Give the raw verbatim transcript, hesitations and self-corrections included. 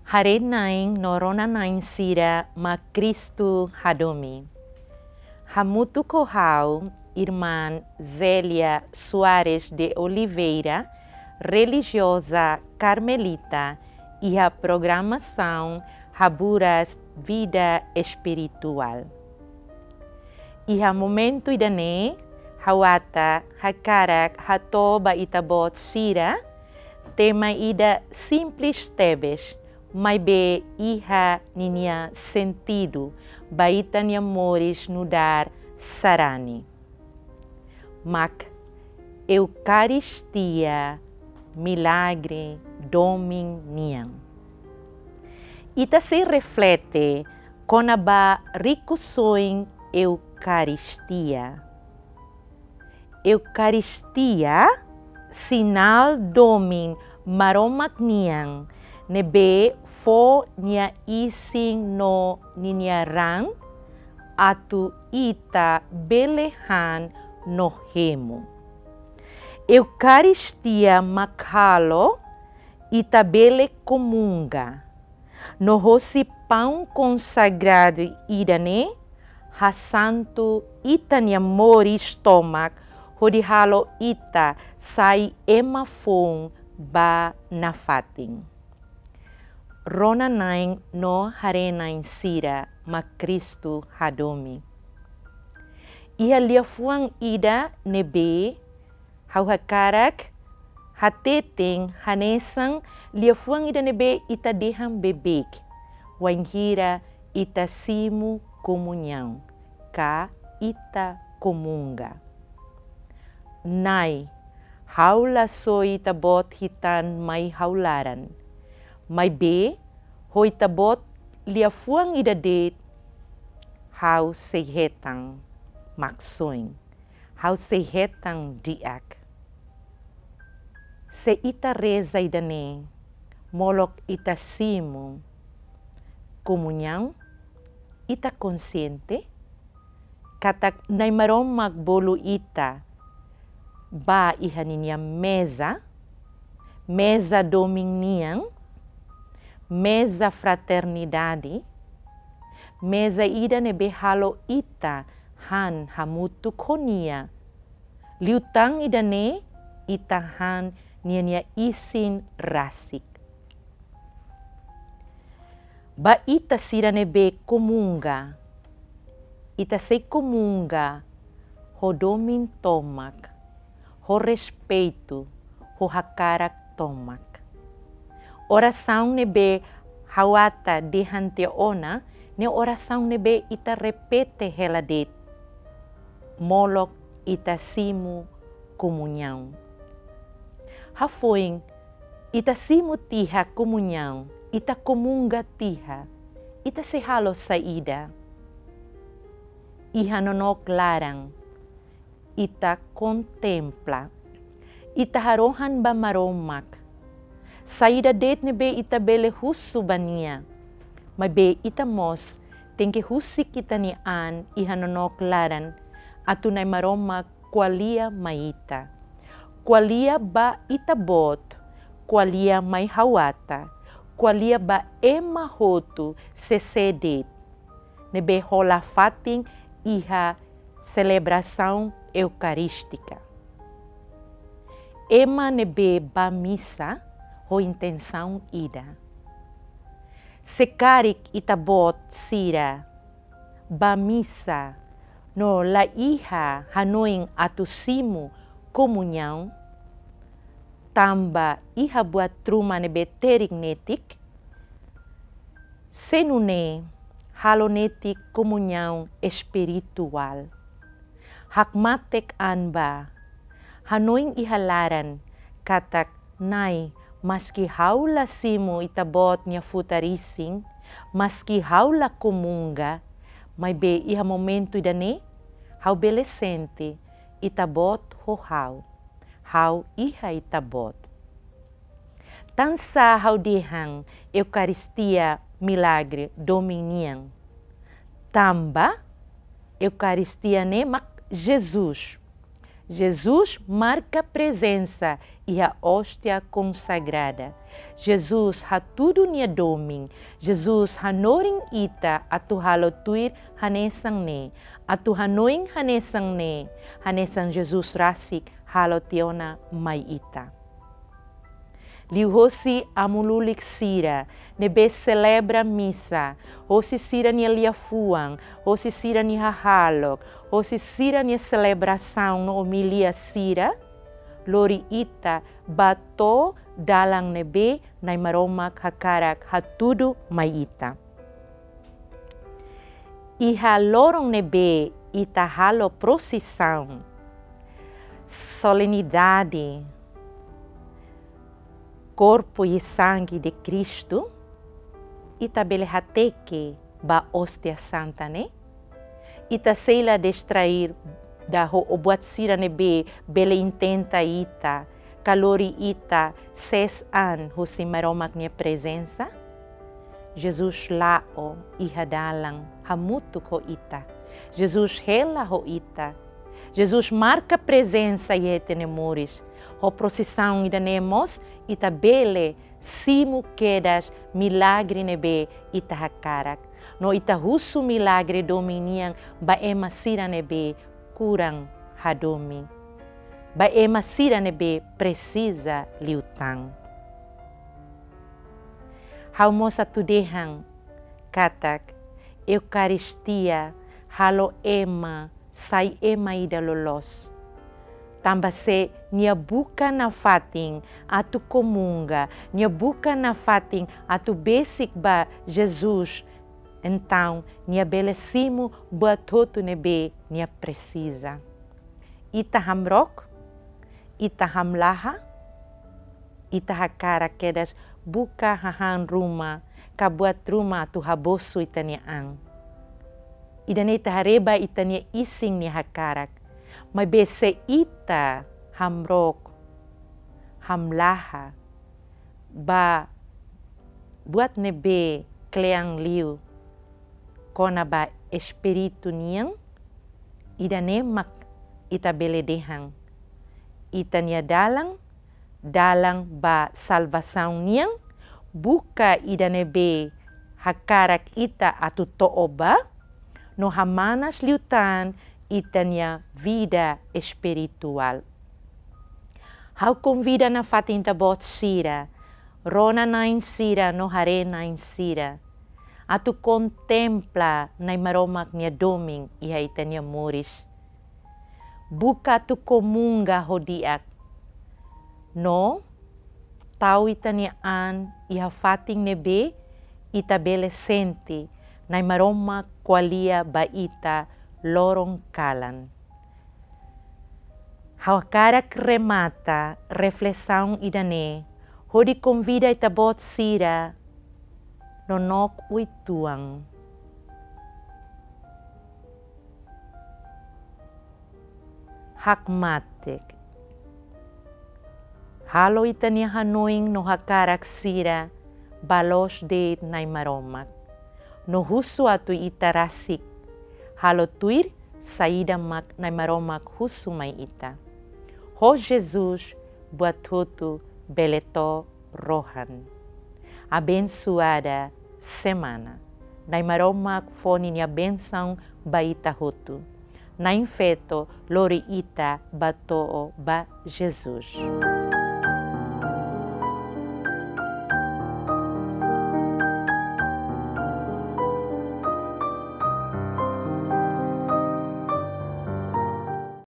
Haree-na'in no rona-na'in sira mak Kristu hadomi. Hamutuk ho ha'u, Irmán Zélia Soares de Oliveira, relijioza karmelita, iha programasaun Haburas Vida Espirituál. Iha momentu ida-ne'e, ha'u ata hakarak hato'o ba ita-boot sira tema ida simples tebes, maibé iha ninia sentidu ba ita-nia moris nu'udar sarani. Mak Eukaristia, milagre domin nian. Ita sei reflete kona-ba rikusoin Eukaristia. Eukaristia, sinál domin Maromak nian, ne'ebé fó nia isin no ninia raan, atu ita bele han no hemu. Eukaristia mak halo ita bele komunga. No hosi paun konsagradu ida-ne'e, hasantu ita-nia moris tomak, hodi halo ita sai ema foun ba nafatin. Rona-na'in no haree-na'in sira mak Kristu hadomi. Iha liafuan ida ne'ebé ha'u hakarak hateten hanesan liafuan ida ne'ebé ita dehan beibeik, wainhira ita simu komuñaun, ka ita komunga. Na'i, ha'u la soi Ita-Boot hitan mai ha'u laran. Maibé, ho Ita-Boot liafuan ida de'it, ha'u sei hetan maksoin. Ha'u sei hetan di'ak. Se ita reza ida-ne'e, molok ita simu komuñaun, ita konsiente katak Na'i Maromak bolu ita ba iha ninia meza, meza domin nian, meza fraternidade, meza ida ne'ebé halo ita han hamutuk ho Nia. Liután ida-ne'e ita han ninia isin rasik. Ba ita sira ne'ebé komunga, ita sei komunga ho domin tomak, ho respeitu, ho hakarak tomak. Orasaun ne'ebé ha'u ata dehan tiha ona, ne'e orasaun ne'ebé ita repete hela de'it, molok ita simu komuñaun. Hafoin ita simu tiha komuñaun, ita komunga tiha, ita sei halo saida? Iha nonook laran, ita kontempla, ita harohan ba Maromak. Saida de'it ne'ebé ita bele husu ba Nia, maibé ita mós tenke husik ita-nia an iha nonook laran, atu Na'i Maromak ko'alia mai ita. Ko'alia ba Ita-Boot, ko'alia mai ha'u ata, ko'alia ba ema hotu sé-sé de'it ne'ebé hola fatin iha selebrasaun eukarístika. Ema ne'ebé bá misa ho intensaun ida. Se karik ita-boot sira bá misa no la iha hanoin atu simu komuñaun, tanba iha buat ruma ne'ebé terik netik, se nune'e halo netik komuñaun espirituál. Hakmatek an bá, hanoin iha laran katak, Na'i, maski ha'u la simu Ita-Boot nia futar isin, maski ha'u la komunga, maibé iha momentu ida-ne'e ha'u bele sente Ita-Boot ho ha'u, ha'u iha Ita-Boot. Tansá ha'u dehan Eukaristia milagre domin nian? Tanba Eukaristia ne'e mak Jesus. Jesus marka prezensa iha óstia konsagrada. Jesus hatudu nia domin. Jesus hanorin ita atu halo tuir hanesan ne'e, atu hanoin hanesan ne'e, hanesan Jesus rasik halo tiha ona mai ita. Liuhosi amu lulik sira ne'ebé selebra misa, hosi sira-nia liafuan, hosi sira-nia hahalok, hosi sira-nia selebrasaun no omilia sira, lori ita ba to'o dalan ne'ebé Na'i Maromak hakarak hatudu mai ita. Iha loron ne'ebé ita halo prosisaun, solenidade Korpu i Sangue de Cristo, ita bele hateke ba Óstia Santa ne'e? Ita sei la distrair ida ho buat sira ne'ebé bele intenta ita, ka lori ita sees an husi Maromak nia prezensa? Jesus la'o iha dalan hamutuk ho ita. Jesus hela ho ita. Jesus marka prezensa iha ita-nia moris. Ho prosisaun ida-ne'e mós ita bele simu kedas milagre ne'ebé ita hakarak. No ita husu milagre domin nian ba ema sira ne'ebé kuran hadomi, ba ema sira ne'ebé presiza liután. Ha'u mós atu dehan katak Eukaristia halo ema sai ema ida loloos. Tanba se nia buka nafatin atu komunga, nia buka nafatin atu besik ba Jesus, entaun nia bele simu buat hotu ne'ebé nia presiza. Ita hamrook, ita hamlaha, ita hakarak kedas buka hahán ruma, ka buat ruma atu habosu ita-nia an. Ida-ne'e ita haree ba ita-nia isin nia hakarak. Maibé se ita hamrook, hamlaha ba buat ne'ebé kle'an liu kona-ba espíritu nian, ida-ne'e mak ita bele dehan ita-nia dalan, dalan ba salvasaun nian, buka ida ne'ebé hakarak ita atu to'o ba, no hamanas liután ita-nia vida espirituál. Ha'u konvida nafatin ita-boot sira, rona-na'in sira no haree-na'in sira, atu kontempla Na'i Maromak nia domin iha ita-nia moris. Buka atu komunga ho di'ak. No tau ita-nia an iha fatin ne'ebé ita bele sente Na'i Maromak ko'alia ba ita loron kalan. Ha'u hakarak remata reflesaun ida-ne'e hodi konvida ita-boot sira nonook uitoan. Hakmatek. Halo ita-nia hanoin no hakarak sira ba loos de'it Na'i Maromak. No husu atu ita rasik halo tuir saida mak Na'i Maromak husu mai ita. Ho Jesus buat hotu bele to'o rohan. Abensoada semana. Na'i Maromak fó ninia bensaun ba ita hotu. Na'in-Feto lori ita ba to'o ba Jesus.